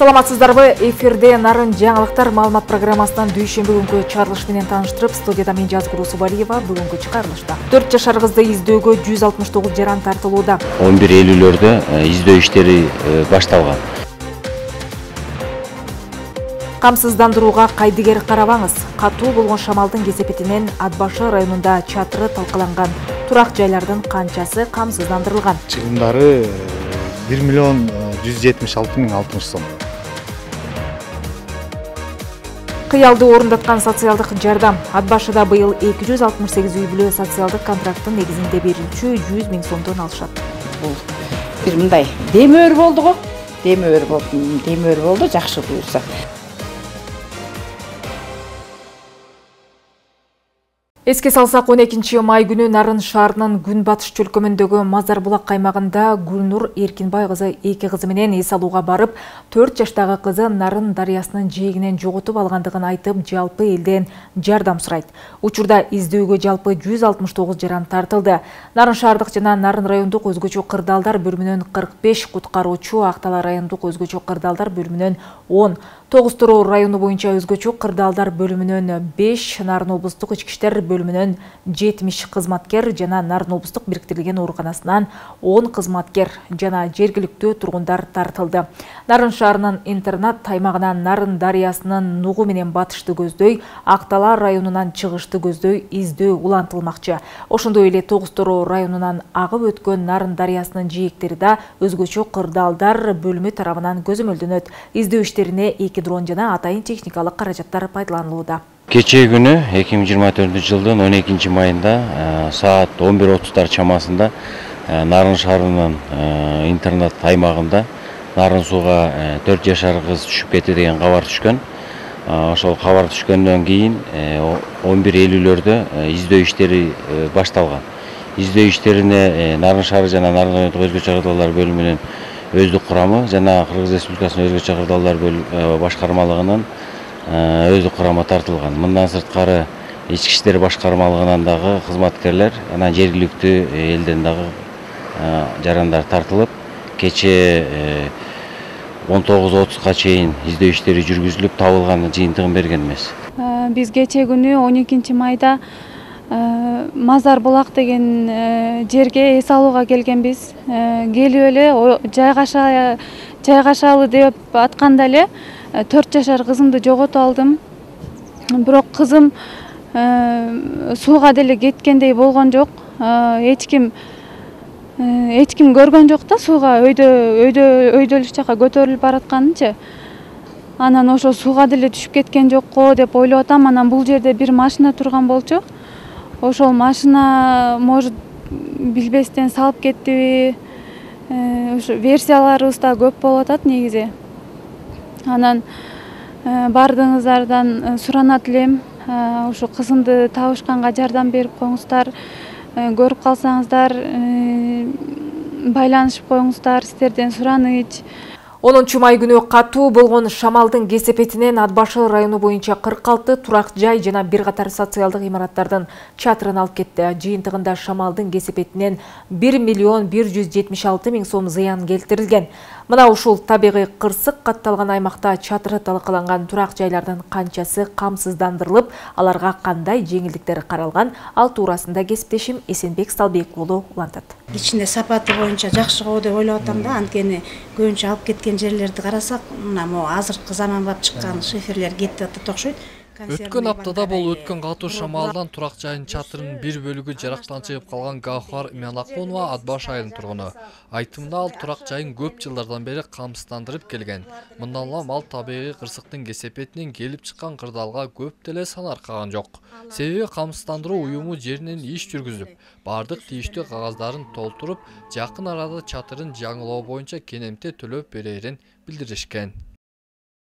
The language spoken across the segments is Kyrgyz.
Саламатсыздарбы? Эфирде Нарын жаңылыктар маалымат программасынан дүйшөмбү күнкү чыгарылыш менен тааныштырып, студияда мен Жазгул Усубалиева. Бүгүнкү чыгарылышта 4 жашар кызды издөөгө 169 жаран тартылууда. 11 июлдө издөө иштери башталган. Камсыздандырууга кайдыгер карабаңыз. Катуу болгон шамалдын кесепетинен Ат Башы районунда чатыры талкаланган турак жайлардын канчасы камсыздандырылган? Чыгымдары 1 миллион 176 миң 60 сом. Кыялды орундаткан социалдык жардам. Ат Башыда быйыл 268 үй бүлө социалдык контракттын негизинде берүүчү 100 миң сомдон алышат. Бул бир мындай демөөр болду го. Демөөр болду, жакшы буюрса. Эске салсак, 12 май күнү Нарын шаарынын күнбатыш чөлкөмүндөгү Мазарбулак каймагында Гүлнур Эркинбай кызы 2 кызы менен эс алууга барып, 4 жаштагы кызы Нарын дарыясынын жээгинен жоготуп алгандыгын айтып, жалпы элден жардам сурайт. Учурда издөөгө жалпы 169 жаран тартылды. Нарын шаардык жана Нарын райондук өзгөчө кырдаалдар бөлүмүнөн 45 куткаруучу, Актала райондук өзгөчө кырдаалдар бөлүмүнөн 10, Тогуз Тороо району боюнча өзгөчө кырдаалдар бөлүмүнөн 5, Нарын облустук ички иштер бөлүмүнөн 70 кызматкер жана Нарын облустук бириктирилген ооруканасынан 10 кызматкер жана жергиликтүү тургундар тартылды. Нарын шаарынын интернат аймагынан Нарын дарыясынын нугу менен батышты көздөй, Актала районунан чыгышты көздөй издөө улантылмакчы. Ошондой эле Тогуз Тороо районунан агып өткөн Нарын дарыясынын жээктери да өзгөчө кырдаалдар бөлүмү тарабынан көзөмөлдөнөт. Издөө иштерине 2 дрон жана атайын техникалык каражаттар пайдаланылууда. Кечээ күнү 2024-жылдын 12 майында саат 11:30 чамасында Нарын шаарынын интернат аймагында Нарын сууга 4 жашар кыз түшүп кетти деген кабар түшкөн. Ошол кабар түшкөндөн кийин 11 июлдө издөө иштери башталган. Издөө иштерине Нарын шаары жана Нарын райондук өзгөчө кырдаалдар бөлүмүнүн өздүк курамы жана Кыргыз Республикасынын өзгөчө кырдаалдар башкармалыгынын өздүк курамы тартылган. Мындан сырткары ички иштер башкармалыгынан дагы кызматкерлер, анан жергиликтүү элден дагы жарандар тартылып, кечээ 19:30 чейин издөө иштери жүргүзүлүп, табылган жыйынтыгын берген эмес. Биз кечээ күнү 12 майда Мазарбулак деген жерге эс алууга келгенбиз. Келип эле жайгашалы деп атканда эле 4 жашар кызымды жоготуп алдым. Бирок кызым сууга деле кеткендей болгон жок. Эч ким көргөн жок да, сууга өйдөлүк жака көтөрүлүп баратканынчы. Анан ошо сууга деле түшүп кеткен жокко деп ойлоп атам. Анан бул жерде бир машина турган болчу. Ошол машина может билбестен салып кеттиби? Ошо версияларыбыз да көп болуп атат негизи. Анан бардыгыңыздардан суранат элем, ошо кызымды табышканга жардам берип коюңуздар. Көрүп калсаңыздар байланышып коюңуздар, сиздерден сураныч. 10 май күнү катуу болгон шамалдын кесепетинен Ат Башы району боюнча 46 турак жай жана бир катар социалдык имараттардын чатырын алып кетти. Жыйынтыгында шамалдын кесепетинен 1 миллион 176 миң сом зыян келтирилген. Мына ушул табигый кырсык катталган аймакта чатыры талкаланган турак жайлардын канчасы камсыздандырылып, аларга кандай жеңилдиктер каралган, ал туурасында кесиптешим Эсенбек Салбек уулу улантат. Ичинде сапаты боюнча жакшы го деп ойлоп атам да, анткени көбүнчө алып кеткен жерлерди карасак, мына могу азыркы заманбап чыккан шиферлер кетип атат окшойт. Өткөн аптада болуп өткөн катуу шамалдан турак жайын чатырынын бир бөлүгү жарактан чыгып калган Гауһар Иманакунова Ат Баш айылынын тургуну. Айтымында ал турак жайын көп жылдардан бери камсыздандырып келген. Мындан улам ал табигый кырсыктын кесепетинен келип чыккан кырдаалга көп деле сан аркаган жок. Себеби камсыздандыруу уюму жеринен иш жүргүзүп, бардык тийиштүү кагаздарын толтуруп, жакын арада чатырын жаңылоо боюнча кенемте төлөп берерин билдиришкен.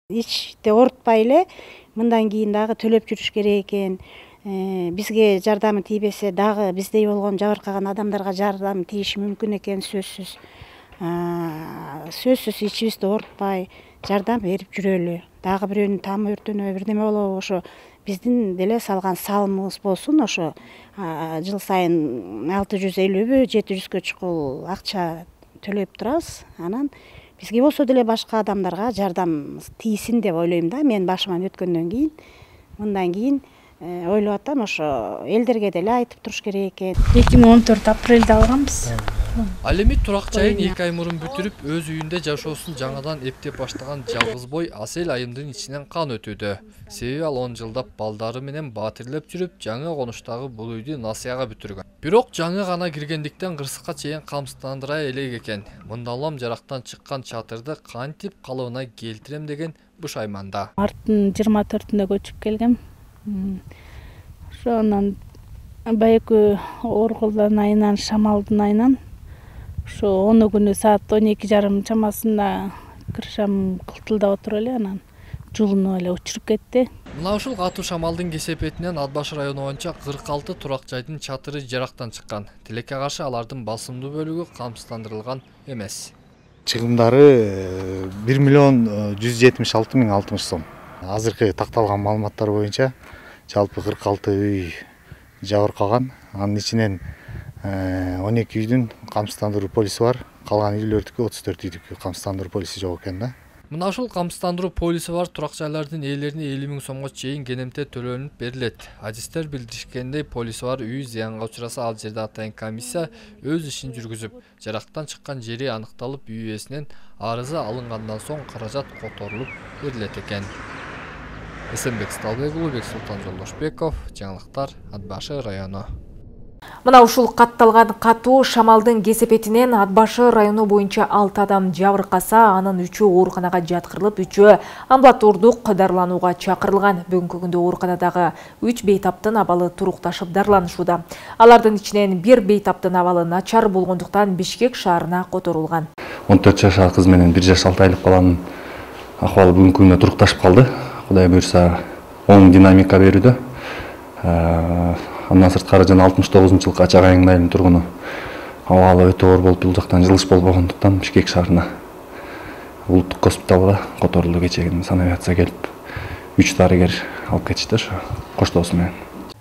Ичте орутпай эле мындан кийин дагы төлөп жүрүш керек экен. Бизге жардамы тийбесе дагы биздей болгон жабыркаган адамдарга жардам тийиши мүмкүн экен, сөзсүз. Сөзсүз ичибизди орутпай жардам берип жүрөлү. Дагы бирөөнүн тамы өртөнөбү, бирдеме болобу, ошо биздин деле салган салымыбыз болсун. Ошо жыл сайын 650бү 700гө чукул акча төлөп турабыз. Анан бизге болсо деле башка адамдарга жардам тийсин деп ойлойм да. Мен башыман өткөндөн кийин мындан кийин ойлоп атам, ошо элдерге деле айтып туруш керек экен. 2014 апрелде алганбыз. Ал эми турак жайын 2 ай мурун бүтүрүп, өз үйүндө жашоосун жаңадан эптеп баштаган жалгыз бой Асел айымдын ичинен кан өтүүдө. Себеби ал 10 жылдап балдары менен батирлеп жүрүп, жаңы конуштагы бул үйдү насыяга бүтүргөн. Бирок жаңы гана киргендиктен кырсыкка чейин камсыздандыра элек экен. Мында улам жарактан чыккан чатырды кантип калыбына келтирем деген бушайманда. Марттын 24-үндө көчүп келгем. Ошонан байкы Орголдон айынан, Шамалдын айынан ошо 10 күнү саат 12:30 чамасында кыршам кылтылдап отуруп эле анан жулунуп эле учуруп кетти. Мына ушул катуу шамалдын кесепетинен Ат башы району боюнча 46 турак жайдын чатыры жарактан чыккан. Тилекке каршы алардын басымдуу бөлүгү камсыздандырылган эмес. Чыгымдары 1.176.060 сом. Азыркы такталган маалыматтар боюнча жалпы 46 үй жабыркаган. Анын ичинен 12 үйдүн камсыздандыруу полиси бар. Калган үйлөрдүкү 34 үйдүкү камсыздандыруу полиси жок экен да. Мына ушул камсыздандыруу полиси бар турак жайлардын ээлерине 50.000 сомго чейин кенемте төлөнүп берилет. Адистер билдиришкендей, полиси бар үй зыянга учураса ал жерде атайын комиссия өз ишин жүргүзүп, жарактан чыккан жери аныкталып, үй ээсинен арызы алынгандан соң каражат которулуп берилет экен. Эсенбек Сталбек уулу, Бексултан Жолдошбеков, жаңылыктар, Ат башы району. Мына ушул катталган катуу шамалдын кесепетинен Ат башы району боюнча 6 адам жабыркаса, анын 3-өө ооруканага жаткырылып, 3-өө амбулатордук дарыланууга чакырылган. Бүгүнкү күндө ооруканадагы 3 бейтаптын абалы турукташып дарыланышууда. Алардын ичинен 1 бейтаптын абалы начар болгондуктан Бишкек шаарына которулган. 14 жашар кыз менен 1 жаш 6 айлык баланын акыбалы бүгүнкү күндө турукташып калды. Кудай буйрса, оң динамика берүүдө. Андан сырткары жана 69-жылкы Ачак айылынын айылынын тургуну абалы өтө оор болуп, бул жактан жылыш болбогондуктан Бишкек шаарына улуттук госпиталга которулду. Кечээ санавиация келип 3 дарыгер алып кетишти ошо коштоосу менен.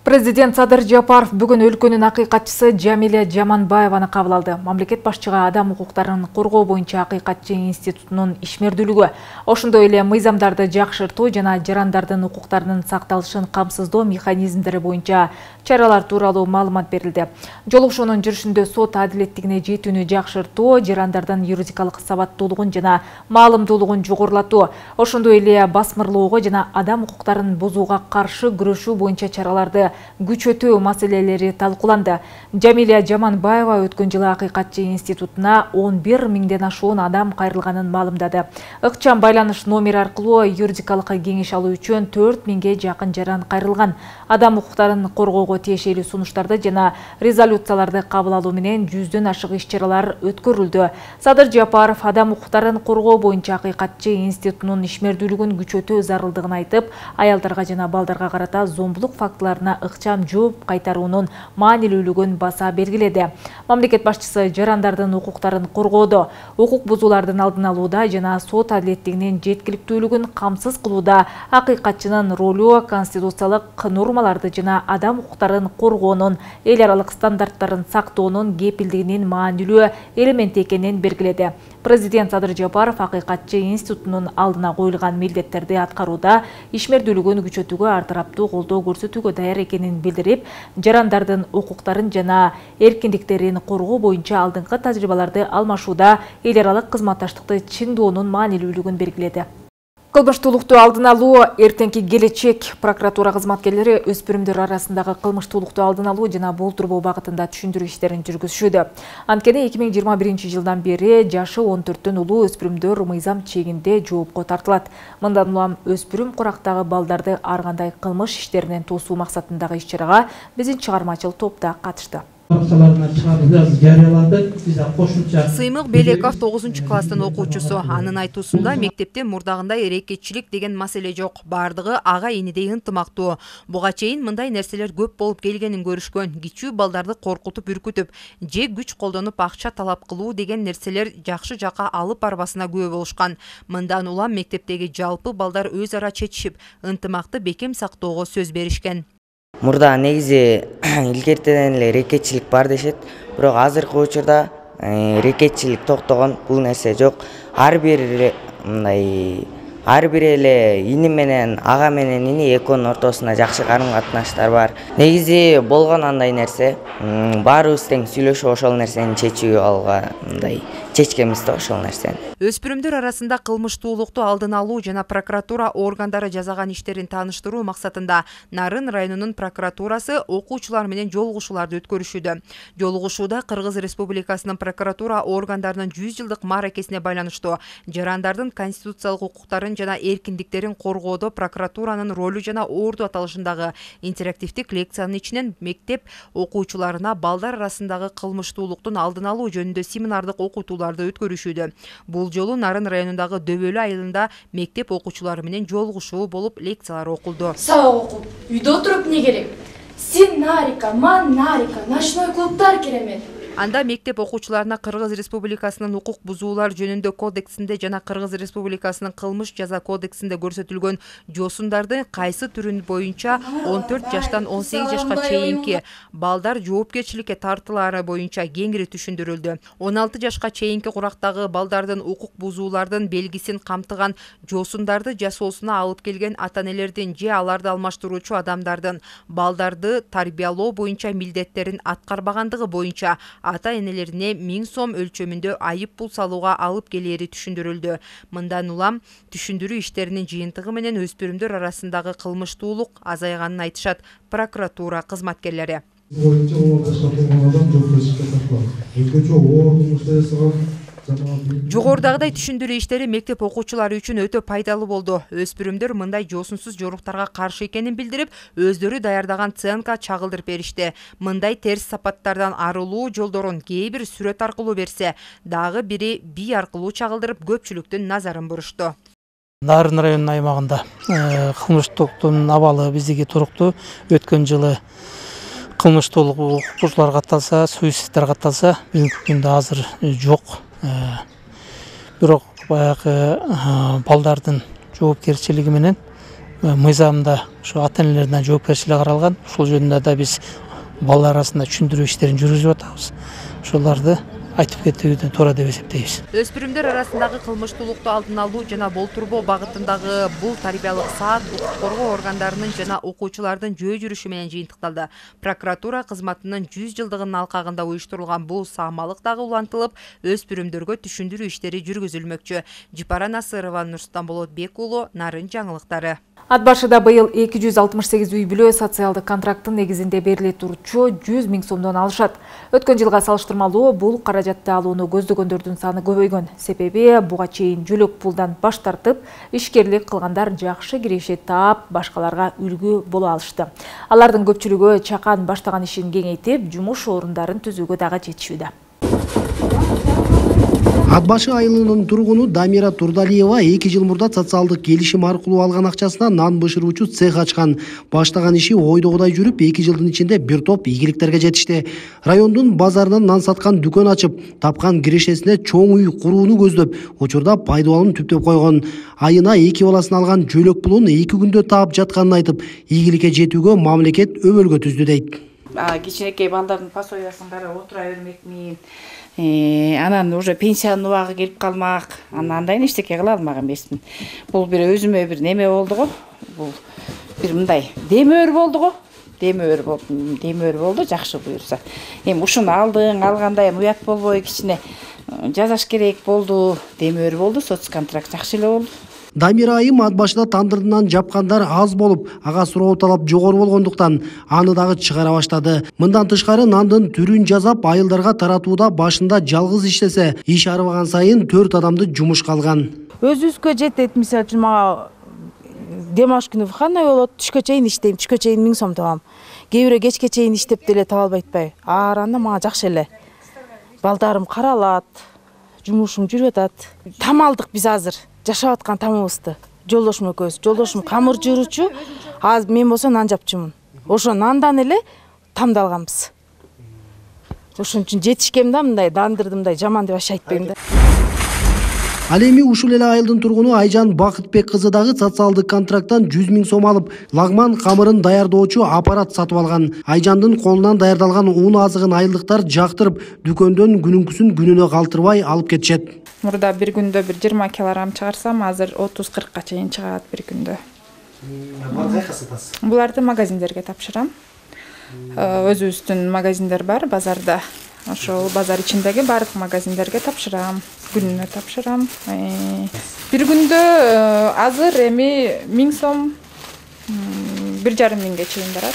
Президент Садыр Жапаров бүгүн өлкөнүн акыйкатчысы Жамиля Жаманбаеваны кабыл алды. Мамлекет башчыга адам укуктарын коргоо боюнча акыйкатчы институтунун ишмердүүлүгү, ошондой эле мыйзамдарды жакшыртуу жана жарандардын укуктарынын сакталышын камсыздоо механизмдери боюнча чаралар тууралуу маалымат берилди. Жолугушуунун жүрүшүндө сот адилеттигине жетүүнү жакшыртуу, жарандардын юридикалык сабаттуулугун жана маалымдуулугун жогорулатуу, ошондой эле басмырлоого жана адам укуктарын бузууга каршы күрөшүү боюнча чараларды күчөтүү маселелери талкууланды. Жамиля Жаманбаева өткөн жылы акыйкатчы институтуна 11 миңден ашуун адам кайрылганын маалымдады. Ыкчам байланыш номери аркылуу юридикалык кеңеш алуу үчүн 4 миңге жакын жаран кайрылган. Адам укуктарын коргоого тиешелүү сунуштарды жана резолюцияларды кабыл алуу менен 100дөн ашык иш-чаралар өткөрүлдү. Садыр Жапаров адам укуктарын коргоо боюнча акыйкатчы институтунун ишмердүүлүгүн күчөтүү зарылдыгын айтып, аялдарга жана балдарга карата зомбулук фактыларына ыкчам жооп кайтаруунун маанилүүлүгүн баса бергиледи. Мамлекет башчысы жарандардын укуктарын коргоодо, укук бузуулардын алдын алууда жана сот адилеттигинин жеткиликтүүлүгүн камсыз кылууда акыйкатчынын ролу конституциялык нормаларды жана адам укуктарын коргоонун эл аралык стандарттарын сактоонун кепилдигинин маанилүү элементи экенин белгиледи. Президент Садыр Жапаров акыйкатчы институтунун алдына коюлган милдеттерди аткарууда ишмердүүлүгүн күчөтүүгө ар тараптуу колдоо көрсөтүүгө даяр экенин билдирип, жарандардын укуктарын жана эркиндиктерин коргоо боюнча алдыңкы тажрыйбаларды алмашууда эл аралык кызматташтыкты чыңдоонун маанилүүлүгүн белгиледи. Кылмыштуулукту алдын алуу, эртеңки келечек прокуратура кызматкерлери өспүрүмдөр арасындагы кылмыштуулукту алдын алуу жана болтурбоо багытында түшүндүрүү иштерин жүргүзүшүүдө. Анткени 2021 жылдан бери жашы 14төн улуу өспүрүмдөр мыйзам чегинде жоопко тартылат. Мындан улам өспүрүм курактагы балдарды ар кандай кылмыш иштеринен тосуу максатындагы иш-чарага биздин чыгармачыл топта катышты. Сыймык Белеков 9-класстын окуучусу. Анын айтуусунда мектепте мурдагындай эрекетчилик деген маселе жок. Бардыгы ага инидей ынтымактуу. Буга чейин мындай нерселер көп болуп келгенин көрүшкөн. Кичүү балдарды коркутуп, үркүтүп, же күч колдонуп акча талап кылуу деген нерселер жакшы жака алып барбасына күбө болушкан. Мындан улам мектептеги жалпы балдар өз ара чечишип, ынтымакты бекем сактоого сөз беришкен. Мурда негизи илгертеден эле эрекетчилик бар дешет, бирок азыркы учурда рекетчилик токтогон, бул нерсе жок. Ар бир эле ини менен ага менен ини экөөнүн ортосунда жакшы карым-катнаштар бар. Негизи болгон андай нерсе. Баарыбыз тең сүйлөшүп ошол нерсени чечүү алга чечкенбиз да ошол нерсени. Өспүрүмдөр арасында кылмыштуулукту алдын алуу жана прокуратура органдары жасаган иштерин тааныштыруу максатында Нарын районунун прокуратурасы окуучулар менен жолугушууларды өткөрүшүүдө. Жолугушууда Кыргыз Республикасынын прокуратура органдарынын 100 жылдык мааракесине байланыштуу жарандардын конституциялык укуктарын жана эркиндиктерин коргоодо прокуратуранын ролу жана орду аталышындагы интерактивдик лекциянын ичинен мектеп окуучуларына балдар арасындагы кылмыштуулуктун алдын алуу жөнүндө семинардык окутууларды өткөрүшүүдө. Бул жолу Нарын районундагы Дөбөлү айылында мектеп окуучулары менен жолугушуу болуп лекциялар окулду. Сабак окуп, үйдө отуруп не керек? Сен нарика, ман нарика, ночной клубтар керемет. Анда мектеп окуучуларына Кыргыз Республикасынын укук бузуулар жөнүндө кодексинде жана Кыргыз Республикасынын кылмыш жаза кодексинде көрсөтүлгөн жосундардын кайсы түрүн боюнча 14 жаштан 18 жашка чейинки балдар жоопкерчиликке тартылаары боюнча кеңири түшүндүрүлдү. 16 жашка чейинки курактагы балдардын укук бузуулардын белгисин камтыган жосундарды жасоосуна алып келген ата-энелердин же аларды алмаштыруучу адамдардын балдарды тарбиялоо боюнча милдеттерин аткарбагандыгы боюнча ата-энелерине 1000 сом өлчөмүндө айып пул салууга алып келери түшүндүрүлдү. Мындан улам түшүндүрүү иштеринин жыйынтыгы менен өспүрүмдөр арасындагы кылмыштуулук азайганын айтышат прокуратура кызматкерлери. Жогорудагыдай түшүндүрүү иштери мектеп окуучулары үчүн өтө пайдалуу болду. Өспүрүмдөр мындай жосунсуз жоруктарга каршы экенин билдирип, өздөрү даярдаган ЦНК чагылдырып беришти. Мындай терс сапаттардан арылуу жолдорун кээ бир сүрөт аркылуу берсе, дагы бири бий аркылуу чагылдырып көпчүлүктүн назарын бурушту. Нарын районунун аймагында кылмыштуулуктун абалы биздики туруктуу. Өткөн жылы кылмыштуулук окуучуларга катталса, суицидтер катталса, бүгүнкү күндө азыр жок. Бирок баягы балдардын жоопкерчилиги менен мыйзамда ушу ата-энелердин жоопкерчилиги каралган. Ушул жөнүндө да биз балдар арасында түшүндүрүү иштерин жүргүзүп атабыз. Ошолорду айтып кетүүнү туура деп эсептейбиз. Өспүрүмдөр арасындагы кылмыштуулукту алдын алуу жана болтурбоо багытындагы бул тарбиялык саат укук коргоо органдарынын жана окуучулардын жөө жүрүшү менен жыйынтыкталды. Прокуратура кызматынын 100 жылдыгынын алкагында уюштурулган бул саамалык дагы улантылып, өспүрүмдөргө түшүндүрүү иштери жүргүзүлмөкчү. Жипара Насырова, Нурсултан Болотбек уулу, Нарын жаңылыктары. Ат башыда быйыл 268 үй бүлө социалдык контракттын негизинде бериле турчу 100 000 сомдон алышат. Өткөн жылга салыштырмалуу бул каражатты алууну көздөгөндөрдүн саны көбөйгөн. Себеби буга чейин жөлөк пулдан баш тартып, ишкерлик кылгандар жакшы киреше таап, башкаларга үлгү боло алышты. Алардын көпчүлүгү чакан баштаган ишин кеңейтип, жумуш орундарын түзүүгө дагы жетишүүдө. Ат башы айылынын тургуну Дамира Турдалиева 2 жыл мурда социалдык келишим аркылуу алган акчасына нан бышыруучу цех ачкан. Баштаган иши ойдогудай жүрүп, 2 жылдын ичинде бир топ ийгиликтерге жетишти. Райондун базарынан нан саткан дүкөн ачып, тапкан кирешесине чоң үй курууну көздөп, учурда пайдаланууну түптөп койгон. Айына 2 баласын алган жөлөк пулун 2 күндө таап жатканын айтып, ийгиликке жетүүгө мамлекет өбөлгө түздү дейт. Кичинекей балдардын пособиясын карап отура бермекмин. Анан уже пенсиянын убагы келип калмак. Андайын эчтеке кыла алмаган эмесмин. Бул бир өзүмө бир неме болду го. Бул бир мындай демөөр болду го. Демөөр болду, жакшы буюрса. Эми ушуну алгандай уят болбой кичине жазаш керек болду. Демөөр болду, соцконтракт жакшы эле болду. Дамира айым ат башыда тандырдынан жапкандар аз болуп, ага суроо талап жогору болгондуктан аны дагы чыгара баштады. Мындан тышкары нандын түрүн жазап айылдарга таратууда башында жалгыз иштесе, иш арыбаган сайын 4 адамды жумушка алган. Өзүбүзгө жетет, мисалы үчүн мага демаш күнү выходной болот, түшкө чейин иштейм, түшкө чейин 1000 сом табам. Кээ бирөө кечке чейин иштеп деле таба албай атпайбы. Анда мага жакшы эле. Балдарым каралат, жумушум жүрүп атат. Там алдык биз азыр. Жашап аткан тамыбызды. Жолдошум экөөбүз. Жолдошум камыр жууручу, азыр мен болсо нан жапчумун. Ошо нандан эле тамды алганбыз. Ошон үчүн жетишкем да мындай дандырдымдай жаман деп аша айтпайм да. Ал эми ушул эле айылдын тургуну Айжан Бакытбек кызы дагы социалдык контракттан 100 000 сом алып, лагман камырын даярдоочу аппарат сатып алган. Айжандын колунан даярдалган ун азыгын айылдыктар жактырып, дүкөндөн күнүнкүсүн күнүнө калтырбай алып кетишет. Мурда бир күндө бир 20 килограмм чыгарсам, азыр 30-40ка чейин чыгат бир күндө. Кайда сатасыз? Буларды магазиндерге тапшырам. Өзүбүздүн магазиндер бар базарда. Ошол базар ичиндеги бардык магазиндерге тапшырам. Күнүнө тапшырам. Бир күндө азыр эми 1000 сом 1,5 миңге чейин барат.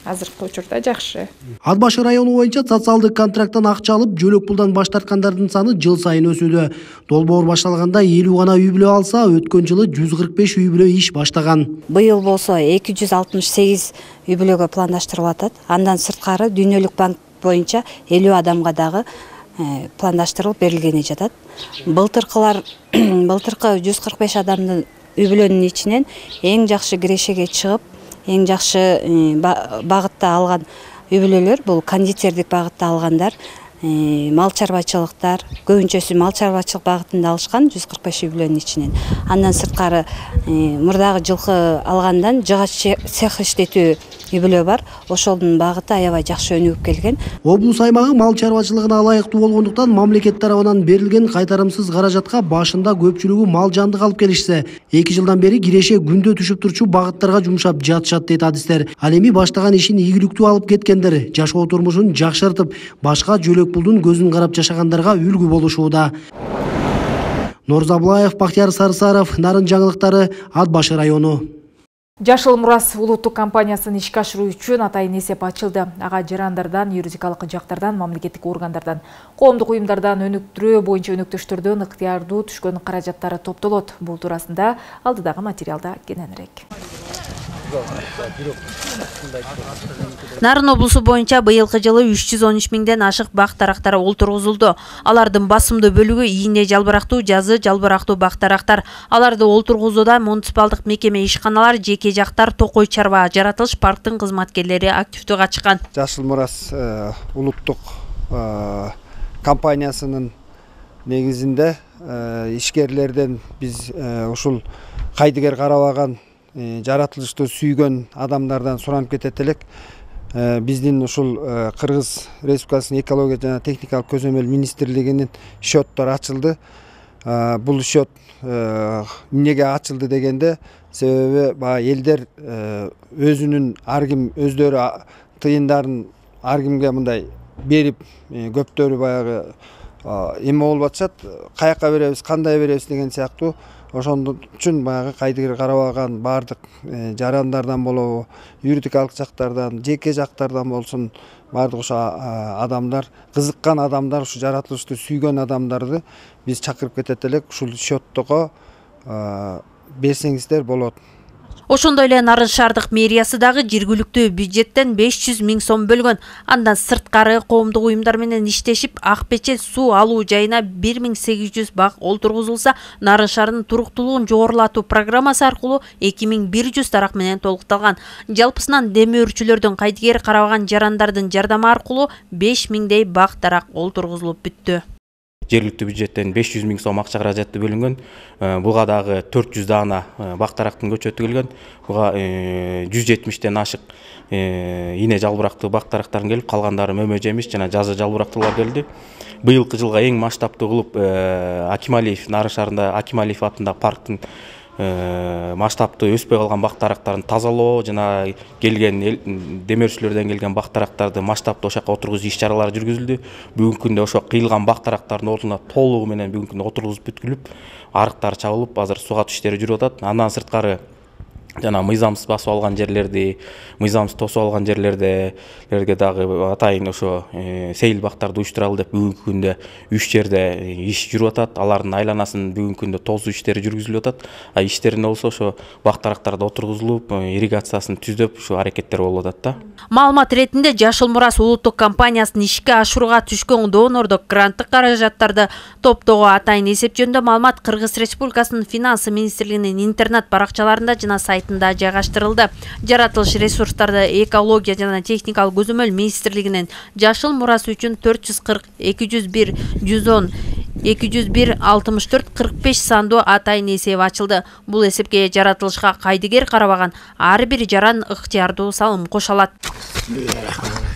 Азыркы учурда жакшы. Ат Башы району боюнча социалдык контракттан акча алып, жөлөк пулдан баш тарткандардын саны жыл сайын өсүүдө. Долбоор башталганда 50 гана үй бүлө алса, өткөн жылы 145 үй бүлө иш баштаган. Быйыл болсо 268 үй бүлөгө пландаштырылып атат. Андан сырткары Дүйнөлүк банк боюнча 50 адамга дагы пландаштырылып берилгени жатат. Былтыркы 145 адамдын үй бүлөнүн ичинен эң жакшы кирешеге чыгып, эң жакшы багытта алган үй бүлөлөр бул кондитердик багытта алгандар, мал чарбачылыктар, көбүнчөсү мал чарбачылык багытында алышкан 145 үй бүлөнүн ичинен. Андан сырткары мурдагы жылкы алгандан жыгач цех иштетүү үй бүлө бар. Ошолдун багыты аябай жакшы өнүгүп келген. Облус аймагы мал чарбачылыгына ылайыктуу болгондуктан мамлекет тарабынан берилген кайтарымсыз каражатка башында көпчүлүгү мал жандык алып келишсе, 2 жылдан бери киреше күндө түшүп турчу багыттарга жумшап жатышат дейт адистер. Ал эми баштаган ишин ийгиликтүү алып кеткендер жашоо турмушун жакшыртып, башка жөлөк пулдун көзүн карап жашагандарга үлгү болушууда. Норзаблаев, Бактияр Сарысаров, Нарын жаңылыктары, Ат Башы району. Жашыл Мурас улуттук компаниясын ишке ашыруу үчүн атайын эсеп ачылды. Ага жарандардан, юридикалык жактардан, мамлекеттик органдардан, коомдук уюмдардан өнүктүрүү боюнча өнөктөштөрдөн ыктыярдуу түшкөн каражаттары топтолот. Бул туурасында алдыдагы материалда кененирээк. Нарын облусу боюнча быйылкы жылы 313 миңден ашык бак тарактар олтургузулду. Алардын басымдуу бөлүгү ийне жалбырактуу, жазы жалбырактуу бак тарактар. Аларды олтургузууда муниципалдык мекеме, ишканалар, жеке жактар, токой чарба, жаратылыш парктын кызматкерлери активдүү катышкан. Жашыл Мурас улуттук компаниясынын негизинде ишкерлерден биз ушул кайдыгер карабаган, жаратылышты сүйгөн адамдардан суранып кетет элек. Биздин ушул Кыргыз Республикасынын экология жана техникалык көзөмөл министрлигинин счеттор ачылды. Бул счет эмнеге ачылды дегенде, себеби элдер өзүнүн ар ким өздөрү тыйындарын ар кимге мындай берип, көптөрү баягы эме болуп атышат, каяка беребиз, кандай беребиз деген сыяктуу. Ошондон үчүн баягы кайдыгер карабаган бардык жарандардан болобу, юридикалык жактардан, жеке жактардан болсун, бардык ошо адамдар, кызыккан адамдар, ушу жаратылышты сүйгөн адамдарды биз чакырып кетет элек, ушул счеттого берсеңиздер болот. Ошондой эле Нарын шаардык мэриясы дагы жергиликтүү бюджеттен 500 000 сом бөлгөн. Андан сырткары коомдук уюмдар менен иштешип, ак печет суу алуу жайына 1800 бак олтургузулса, Нарын шаарынын туруктуулугун жогорулатуу программасы аркылуу 2100 тарак менен толукталган. Жалпысынан демөөрчүлөрдүн кайдыгер карабаган жарандардын жардамы аркылуу 5000дей бак тарак олтургузулуп бүттү. Жергиликтүү бюджеттен 500 000 сом акча каражаты бөлүнгөн. Буга дагы 400 дана бак тарактын көчөтү келген. Буга 170ден ашык ийне жалбырактуу бак тарактардын келип, калгандары мөмө жемиш жана жазы жалбырактуулар келди. Быйылкы жылга эң масштабтуу кылып Акималиев, Нарын шаарында Акималиев атындагы парктын масштабты өспөй калган бак тарактарын тазалоо жана келген демөөрчүлөрдөн келген бак тарактарды масштабты ошока отургузуу иш чаралары жүргүзүлдү. Бүгүнкү күндө ошо кыйылган бак тарактардын ордуна толугу менен бүгүнкү күндө отургузуп бүткүлүп, арыктары чабылып, азыр сугат иштери жүрүп атат. Андан сырткары жана мыйзамсыз басып алган жерлерди, мыйзамсыз тосуп алган жерлерге дагы атайын ошо сейил бактарды уюштуралы деп бүгүнкү күндө 3 жерде иш жүрүп атат. Алардын айланасын бүгүнкү күндө тозуу иштери жүргүзүлүп атат. Иштерин болсо ошо бак тарактарда отургузулуп, ирригациясын түздөп, ушу аракеттер болуп атат да. Маалымат иретинде Жашыл Мурас улуттук компаниясынын ишке ашырууга түшкөн донордук гранттык каражаттарды топтоого атайын эсеп жөнүндө маалымат Кыргыз Республикасынын Финансы министрлигинин интернет баракчаларында жана сайтында жайгаштырылды. Жаратылыш ресурстарды экология жана техникалык көзөмөл министрлигинин Жашыл Мурас үчүн 440 201 110 201-64-45 сандуу атайын эсеп ачылды. Бул эсепке жаратылышка кайдыгер карабаган ар бир жаран ыктыярдуу салым кошо алат.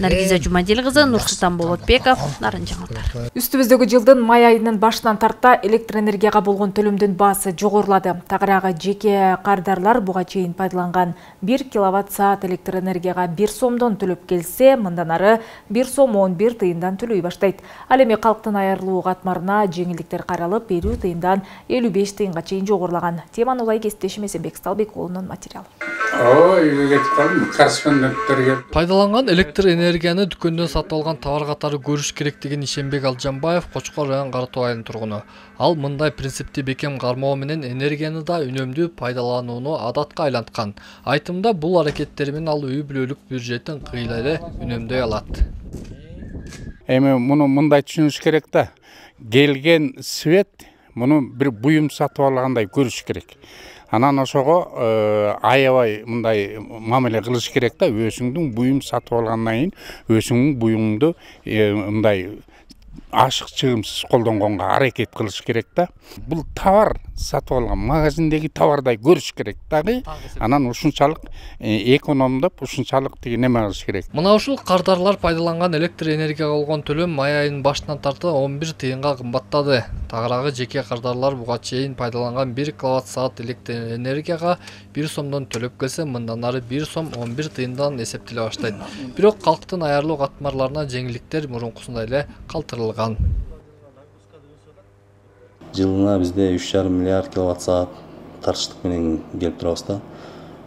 Наргиза Жумадил кызы, Нурсултан Болотбеков, Нарын жаңылыктар. Үстүбүздөгү жылдын май айынын башынан тарта электр энергияга болгон төлөмдүн баасы жогорулады. Тагыраагы жеке кардарлар буга чейин пайдаланган 1 киловатт-саат электр энергияга 1 сомдон төлөп келсе, мындан ары 1 сом 11 тыйындан төлөй баштайт. Ал эми калктын айырылуу катмарына жеңилдиктер каралып, 50 тыйындан 55 тыйынга чейин жогорулаган. Теманы улай кесиптешим Эсенбек Сталбек уулунун материалы. Пайдаланган электр энергияны дүкөндөн сатып алган товар катары көрүш керек деген Ишенбек Алжанбаев Кочкор район Каратоо айылынын тургуну. Ал мындай принципти бекем кармоо менен энергияны да үнөмдүү пайдаланууну адатка айланткан. Айтымда бул аракеттери менен ал үй бүлөлүк бюджетин кыйла эле үнөмдөй алат. Эми муну мындай түшүнүш керек да. Келген свет муну бир буюм сатып алгандай көрүш керек. Анан ошого аябай мындай мамиле кылыш керек да. Өзүңдүн буюм сатып алгандан кийин өзүңдүн буюңду мындай ашык чыгымсыз колдонгонго аракет кылыш керек да. Бул товар сатып алган магазиндеги товардай көрүш керек дагы. Анан ушунчалык экономдоп, ушунчалык деген неме кылыш керек. Мына ушул кардарлар пайдаланган электр энергияга болгон төлөм май айынын башынан тарта 11 тыйынга кымбаттады. Тагыраагы жеке кардарлар буга чейин пайдаланган 1 киловатт-саат электр энергияга 1 сомдон төлөп келсе, мындан ары 1 сом 11 тыйындан эсептеле баштайт. Бирок калктын айырылуу катмарларына жеңилдиктер мурункусундай эле калтырылган. Жылына бизде 3,5 миллиард киловатт-саат тартыштык менен келип турабыз да.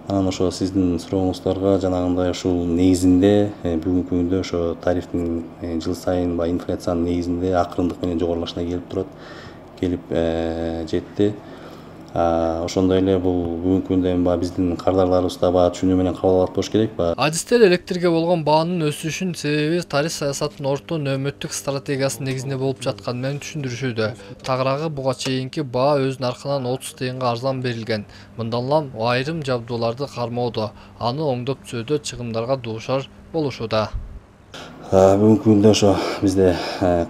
Анан ошо сиздин сурооңуздарга жанагындай ушул негизинде бүгүнкү күндө ошо тарифтин жыл сайын инфляциянын негизинде акырындык менен жогорулашына келип турат. Келип жетти. Ошондой эле бул бүгүнкү күндө эми биздин кардарларыбыз да түшүнүү менен кабыл алат болуш керек. Адистер электрге болгон баанын өсүшүнүн себеби тариф саясатынын орто нөөмөттүк стратегиясынын негизинде болуп жатканы менен түшүндүрүшүүдө. Тагыраагы буга чейинки баа өз наркынан 30 тыйынга арзан берилген. Мындан улам айрым жабдууларды кармоодо, аны оңдоп түзүүдө чыгымдарга дуушар болушууда. Бүгүнкү күндө ошо бизде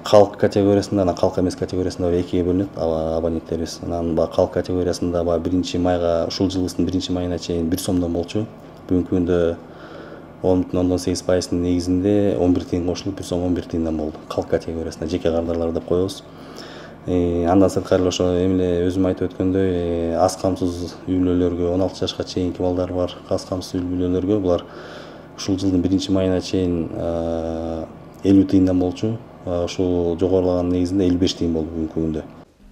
калк категориясында, калк эмес категориясында экиге бөлүнөт абоненттерибиз. Анан калк категориясында 1 майга, ушул жылдын 1 майына чейин 1 сомдон болчу. Бүгүнкү күндө 10,8% негизинде 11 тыйын кошулуп 1 сом 11 тыйындан болду. Калк категориясында жеке кардарлар деп коебуз. Андан сырткары ошо эмне өзүм айтып өткөндөй, аз камсыз үй бүлөлөргө 16 жашка чейинки балдар бар, аз камсыз үй бүлөлөргө булар ушул жылдын 1 майына чейин 50 тыйындан болчу. Ушул жогорулаган негизинде 55 тыйын болду бүгүнкү күндө.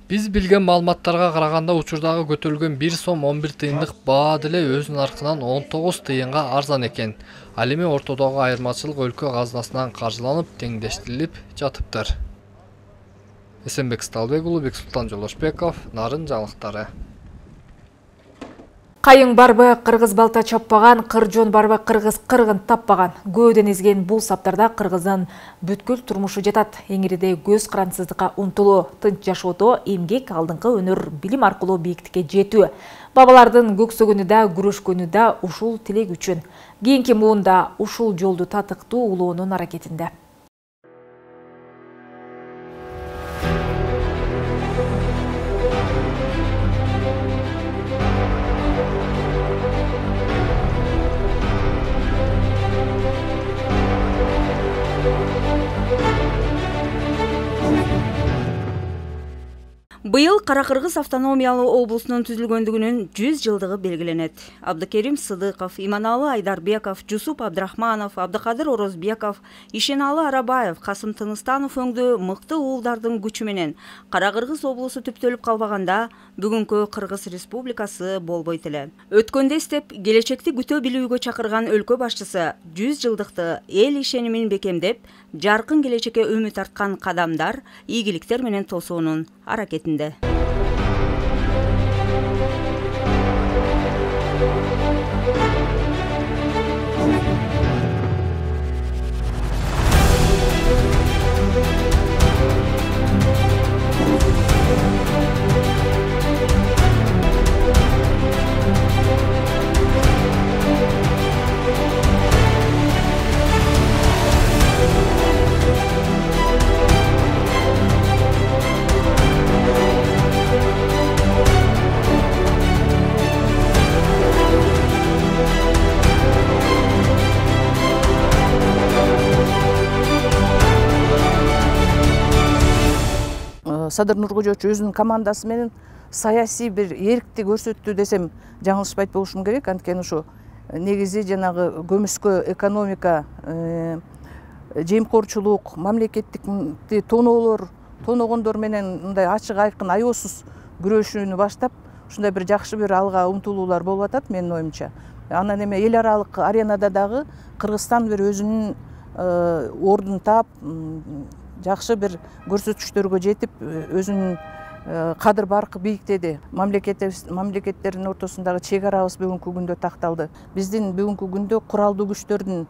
Биз билген маалыматтарга караганда учурдагы көтөрүлгөн 1 сом 11 тыйындык баа деле өз наркынан 19 тыйынга арзан экен. Ал эми ортодогу айырмачылык өлкө казынасынан каржыланып, теңдештирилип жатыптыр. Эсенбек Сталбек уулу, Бексултан Жолошбеков, Нарын жаңылыктары. Кайың барбы кыргыз балта чаппаган, кыржон барбы кыргыз кыргын таппаган. Көөдөн изген бул саптарда кыргыздын бүткүл турмушу жатат. Эңириде көз карансыздыкка умтулуу, тынч жашоодо эмгек, алдыңкы өнөр, билим аркылуу бийиктикке жетүү. Бабалардын көксөгөнү да, күрөшкөнү да ушул тилек үчүн. Кийинки муунда ушул жолду татыктуу улоонун аракетинде. Быйыл Кара-Кыргыз автономиялуу облусунун түзүлгөндүгүнүн 100 жылдыгы белгиленет. Абдыкерим Сыдыков, Иманалы Айдарбеков, Жусуп Абдрахманов, Абдыкадыр Орозбеков, Ишеналы Арабаев, Касым Тыныстанов өңдүү мыкты уулдардын күчү менен Кара-Кыргыз облусу түптөлүп калбаганда бүгүнкү Кыргыз Республикасы болбойт эле. Өткөндө эстеп, келечекти күтө билүүгө чакырган өлкө башчысы 100 жылдыкты эл ишенимин бекемдеп, жаркын келечекке үмүт арткан кадамдар, ийгиликтер менен тосуунун аракетинде. Садыр Нуркожоевич өзүнүн командасы менен саясий бир эркти көрсөттү десем жаңылышпайт болушум керек. Анткени ушу негизи жанагы көмүскө экономика, жемкорчулук, мамлекеттикти тоногондор менен мындай ачык айкын аеосуз күрөшүүнү баштап, ушундай бир жакшы бир алга умтулуулар болуп атат менин оюмча. Анан эме эл аралык аренада дагы Кыргызстан бир өзүнүн ордун таап, жакшы бир көрсөтүштөргө жетип, өзүнүн кадыр баркы бийиктеди. Мамлекеттердин ортосундагы чек арабыз бүгүнкү күндө такталды. Биздин бүгүнкү күндө куралдуу күчтөрдүн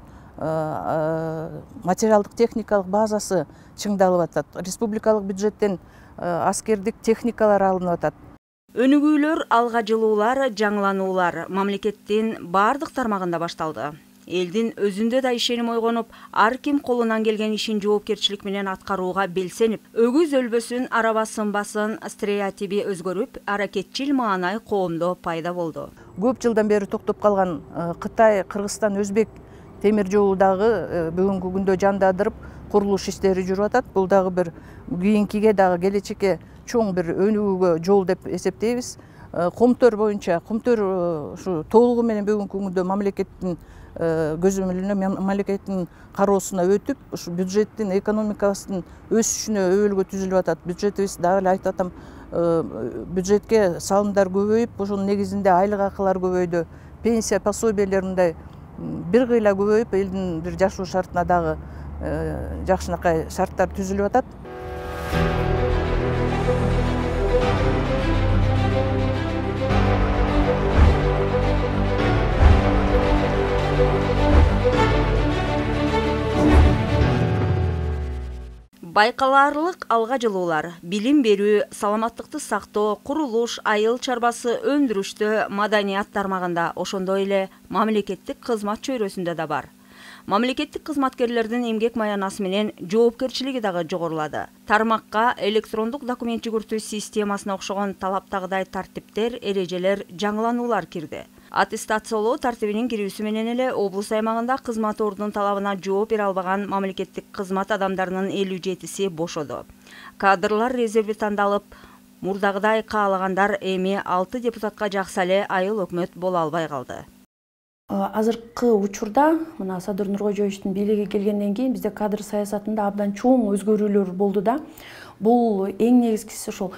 материалдык техникалык базасы чыңдалып атат. Республикалык бюджеттен аскердик техникалар алынып атат. Өнүгүүлөр, алга жылуулар, жаңылануулар мамлекеттин бардык тармагында башталды. Элдин өзүндө да ишеним ойгонуп, ар ким колунан келген ишин жоопкерчилик менен аткарууга белсенип, өгүз өлбөсүн, араба сынбасын стереотиби өзгөрүп, аракетчил маанай коомдо пайда болду. Көп жылдан бери токтоп калган Кытай, Кыргызстан, Өзбек темир жолу дагы бүгүнкү күндө жандандырып, курулуш иштери жүрүп атат. Бул дагы бир кийинкиге дагы келечекке чоң бир өнүгүүгө жол деп эсептейбиз. Комтөр боюнча, комтөр ушу толугу менен бүгүнкү күндө мамлекеттин көзөмөлүнө, мамлекеттин кароосуна өтүп, ушу бюджеттин, экономикабыздын өсүшүнө өбөлгө түзүлүп атат. Бюджетибиз дагы эле айтып атам, бюджетке салымдар көбөйүп, ошонун негизинде айлык акылар көбөйдү, пенсия, пособиялер мындай бир кыйла көбөйүп, элдин бир жашоо шартына дагы жакшынакай шарттар түзүлүп атат. Байкалаарлык алга жылуулар, билим берүү, саламаттыкты сактоо, курулуш, айыл чарбасы, өндүрүштө, маданият тармагында, ошондой эле мамлекеттик кызмат чөйрөсүндө да бар. Мамлекеттик кызматкерлердин эмгек маянасы менен жоопкерчилиги дагы жогорулады. Тармакка электрондук документ жүгүртүү системасына окшогон талаптагыдай тартиптер, эрежелер, жаңылануулар кирди. Аттестациялоо тартибинин кирүүсү менен эле облус аймагында кызмат ордунун талабына жооп бере албаган мамлекеттик кызмат адамдарынын 57-си бошоду. Кадрлар резерви тандалып, мурдагыдай каалагандар эми 6 депутатка жакса эле айыл өкмөт боло албай калды. Азыркы учурда мына Садыр Нуркожоевичтин бийлиги келгенден кийин бизде кадр саясатында абдан чоң өзгөрүүлөр болду да. Бул эң негизгиси ошол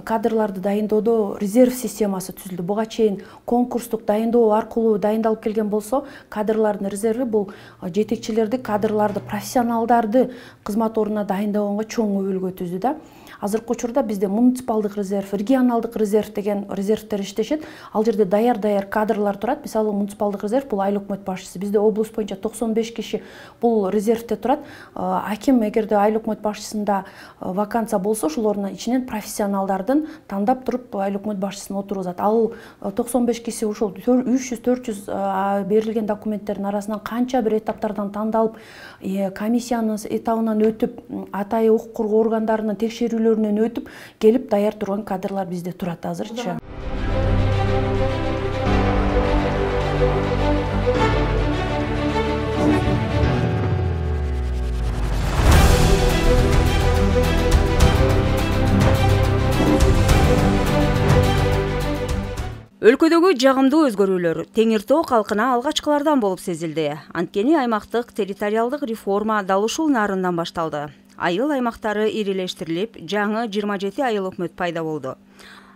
кадрларды дайындоодо резерв системасы түзүлдү. Буга чейин конкурстук дайындоо аркылуу дайындалып келген болсо, кадрлардын резерви бул жетекчилерди, кадрларды, профессионалдарды кызмат ордуна дайындагонго чоң өбөлгө түздү да. Азыркы учурда бизде муниципалдык резерв, регионалдык резерв деген резервтер иштешет. Ал жерде даяр кадрлар турат. Мисалы муниципалдык резерв бул айыл өкмөт башчысы. Бизде облус боюнча 95 киши бул резервте турат. Аким эгерде айыл өкмөт башчысында вакансия болсо, ошолордун ичинен профессионалдардын тандап туруп айыл өкмөт башчысын отургузат. Ал 95 киши ошол 300-400 берилген документтердин арасынан канча бир этаптардан тандалып, комиссиянын этабынан өтүп, атайын укук коргоо органдарынын текшерүүлөрүнөн өтүп, келип даяр турган кадрлар бизде турат азырчы. Өлкөдөгү жагымдуу өзгөрүүлөр Теңир Тоо калкына алгачкылардан болуп сезилди. Анткени аймактык территориалдык реформа дал ушул нарындан башталды. Айыл аймактары ирилештирилип, жаңы 27 айыл өкмөт пайда болду.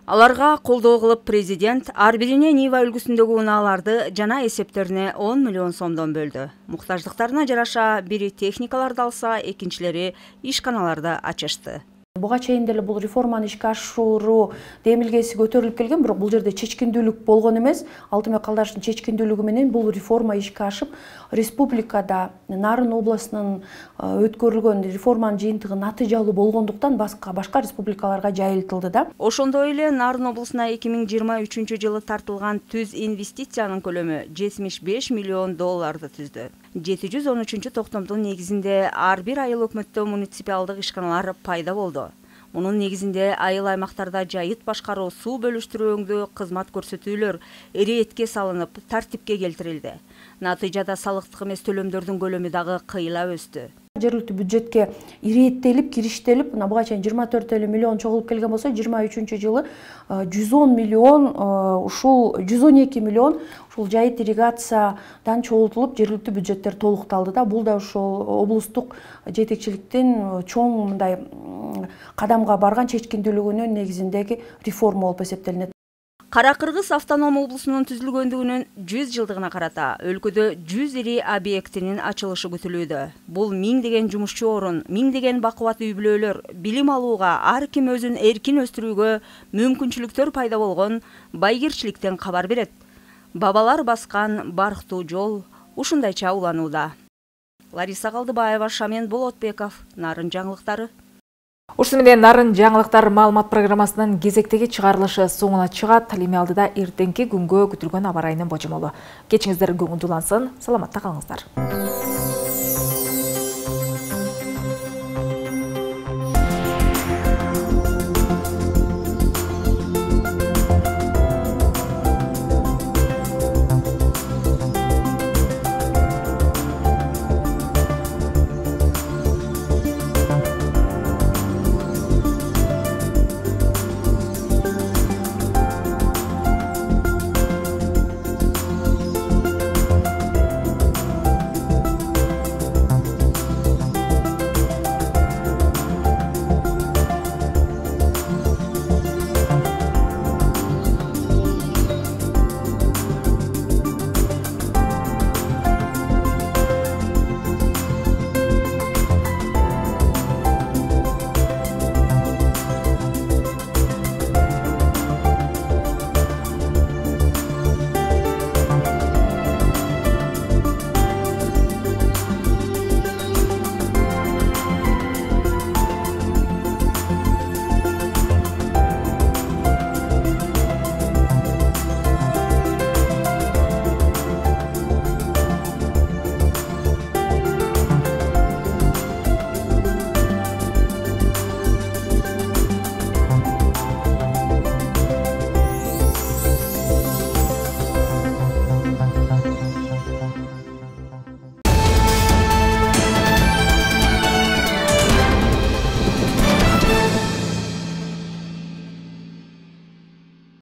Аларга колдоо кылып президент ар бирине Нива үлгүсүндөгү унааларды жана эсептерине 10 миллион сомдон бөлдү. Муктаждыктарына жараша бири техникаларды алса, экинчилери ишканаларды ачышты. Буга чейин деле бул реформаны ишке ашыруу демилгеси көтөрүлүп келген, бирок бул жерде чечкиндүүлүк болгон эмес. Алтынбек Калдаровдун чечкиндүүлүгү менен бул реформа ишке ашып, республикада Нарын областынын өткөрүлгөн реформанын жыйынтыгы натыйжалуу болгондуктан башка республикаларга жайылтылды да. Ошондой эле Нарын облусуна 2023-жылы тартылган түз инвестициянын көлөмү 75 миллион долларды түздү. 713 токтомдун негизинде ар бир айыл өкмөттө муниципалдык ишканалар пайда болду. Мунун негизинде айыл аймактарда жайыт башкаруу, суу бөлүштүрүүңдүү кызмат көрсөтүүлөр эретке салынып, тартипке келтирилди. Натыйжада салыктык эмес төлөмдөрдүн көлөмү дагы кыйла өстү. Жергиликтүү бюджетке иреттелип, кириштелип, мына буга чейин 24 миллион чогулуп келген болсо, 23-жылы 110 миллион, ушул 112 миллион ушул жайыт ирригациядан чогултулуп, жергиликтүү бюджеттер толукталды да. Бул да ушул облустук жетекчиликтин чоң мындай кадамга барган чечкиндүүлүгүнүн негизиндеги реформа болуп эсептелинет. Кара Кыргыз автоном облусунун түзүлгөндүгүнүн 100 жылдыгына карата өлкөдө 100 ири объектинин ачылышы күтүлүүдө. Бул миңдеген жумушчу орун, миңдеген бакубат үй-бүлөлөр билим алууга, ар ким өзүн эркин өстүрүүгө мүмкүнчүлүктөр пайда болгон байгирчиликтен кабар берет. Бабалар баскан барктуу жол ушундайча уланууда. Лариса Калдыбаева, Шамен Болотбеков, Нарын жаңылыктары. Ушуну менен Нарын жаңылыктар маалымат программасынын кезектеги чыгарылышы соңуна чыгат. Эми алдыда эртеңки күнгө күтүлгөн аба ырайынын божомолу. Кечиңиздер көңүлдүү улансын, саламатта калыңыздар.